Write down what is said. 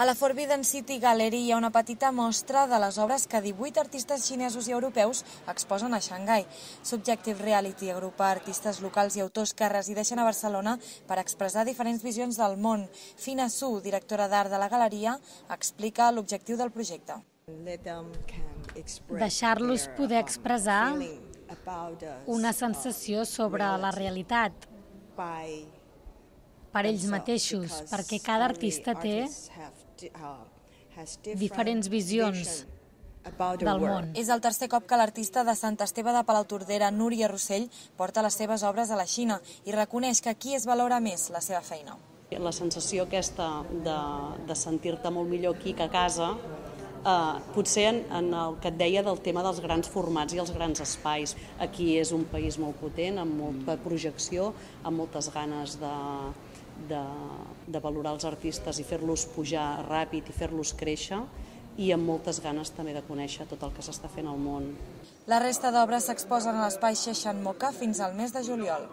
A la Forbidden City Gallery hi ha una petita mostra de les obres que 18 artistes xinesos i europeus exposen a Xangai. Subjective Reality agrupa artistes locals i autors que resideixen a Barcelona per expressar diferents visions del món. Fina Su, directora d'art de la galeria, explica l'objectiu del projecte. Deixar-los poder expressar una sensació sobre la realitat per ells mateixos, perquè cada artista té diferents visions del món. És el tercer cop que l'artista de Sant Esteve de Palautordera, Núria Rossell, porta les seves obres a la Xina i reconeix que aquí es valora més la seva feina. La sensació aquesta de sentir-te molt millor aquí que a casa, potser en el que et deia del tema dels grans formats i els grans espais. Aquí és un país molt potent, amb molta projecció, amb moltes ganes de valorar els artistes i fer-los pujar ràpid i fer-los créixer, i amb moltes ganes també de conèixer tot el que s'està fent al món. La resta d'obres s'exposen a l'espai Sheshan Moka fins al mes de juliol.